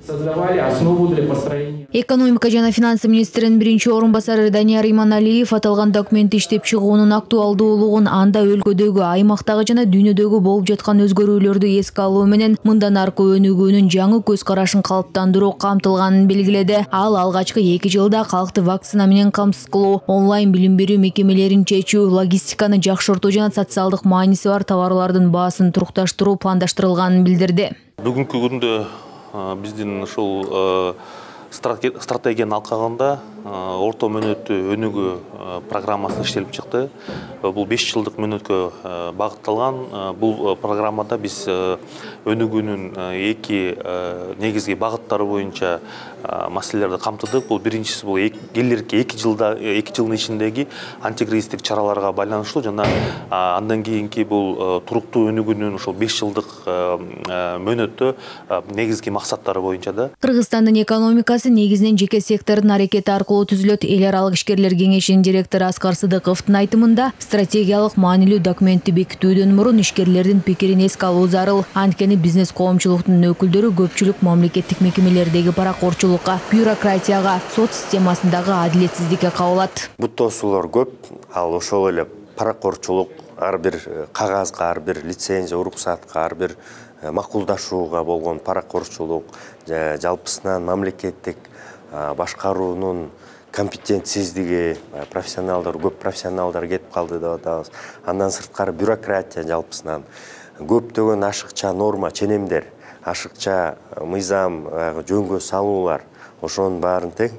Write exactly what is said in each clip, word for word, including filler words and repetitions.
создавали основу для построения. Экономика жана финансы министринин биринчи орун басары Данияр Иманалиев аталган документти иштеп чыгуунун актуалдуулугун, анда өлкөдөгү, аймактагы жана дүйнөдөгү болуп жаткан өзгөрүүлөрдү эске алуу менен мындан аркы өнүгүүнүн жаңы көз карашын калыптандыруу камтылганын белгиледи. Ал алгачкы эки жылда калкты вакцина менен камсыз кылуу, онлайн билим берүү мекемелерин чечүү, логистиканы жакшыртуу жана социалдык мааниси бар товарлардын баасын турукташтыруу пландаштырылганын билдирди. Бүгүнкү күндө биздин ушул стратегиянын алкагында орто мөөнөттүү өнүгүү программасы иштелип чыкты. Бул беш жылдык мөөнөткө багытталган. Бул программада биз өнүгүүнүн эки негизги багыттары боюнча маселелерди камтыдык. Бул биринчиси бул келерки эки жылда эки жылдын ичиндеги антикризистик чараларга байланыштуу жана андан кийинки бул туруктуу өнүгүүнүн ушул беш жылдык мөөнөттө негизги максаттары боюнча да. Кыргызстандын экономикасы негизинен жеке сектордун аракети аркылуу түзүлөт. Эл аралык ишкерлер кеңешинин директору Аскар Сыдыковдун айтымында, стратегиялык маанилүү документти бекитүүдөн мурун ишкерлердин пикирин эске алуу зарыл. Анткени бизнес коомчулуктун өкүлдөрү көпчүлүк мамлекеттик мекемелердеги паракорчулукка, бюрократияга, сот системасындагы адилетсиздикке кабылат. Буттоосулар көп, ал ошол эле паракорчулук, ар бир кагазга, ар бир лицензия, уруксатка, ар бир макулдашууга болгон паракорчулук, жалпысынан мамлекеттик башкаруунун компетентсиздиги, профессионалдар, көп профессионалдар кетип калды деп атабыз. Андан сырткары бюрократия жалпысынан көптөгөн ашыкча норма, ченемдер, ашыкча мыйзам, жөнгө салуулар, ошонун баарын тең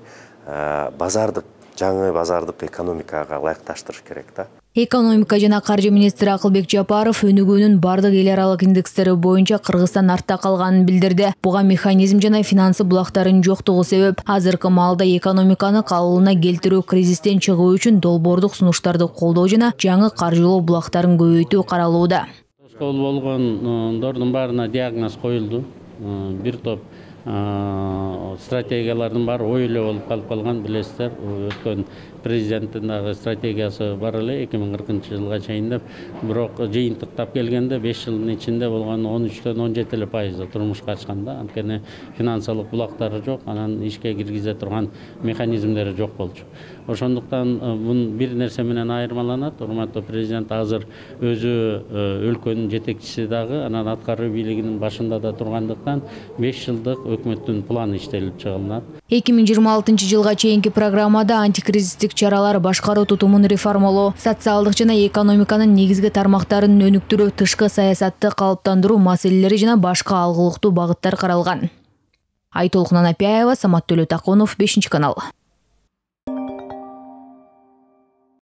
базардык, жаңы базардык экономикага ылайыкташтырыш керек да. Экономика жана каржы министри Акылбек Жапаров өнүгүүнүн бардык эл аралык индекстери боюнча Кыргызстан артта калганын билдирди. Буга механизм жана финансы булактарынын жоктугу себеп. Азыркы маалда экономиканы калыбына келтирүү, кризистен чыгуу үчүн долбоордук сунуштарды колдоо жана жаңы каржылоо булактарын көбөйтүү каралууда. Тоскоол болгондордун баарына диагноз коюлду. Бир топ стратегиялардын баары ой эле болуп калып калган, билесиздер. Өткөн президенттин дагы стратегиясы бар эле эки миң кыркынчы жылга чейин деп. Бирок жыйынтыктап келгенде беш жылдын ичинде болгон он үчтөн он жети эле пайызда турмушка ачканда, анткени финансылык булактары жок, анан ишке киргизе турган механизмдери жок болчу. Ошондуктан бун бир нерсе менен айырмаланат. Урматтуу президент азыр өзү өлкөнүн жетекчиси дагы, анан аткаруу бийлигинин башында да тургандыктан беш жылдык өкмөттүн планы иштелип чыгылат. эки миң жыйырма алтынчы жылга чейинки программада антикризистик чаралар, башкаруу тутумун реформалоо, социалдык жана экономиканын негизги тармактарын өнүктүрүү, тышкы саясатты калыптандыруу маселелери жана башка алгылыктуу багыттар каралган. Айтолкун Анапияева, Самат Төлөтакунов, бешинчи канал.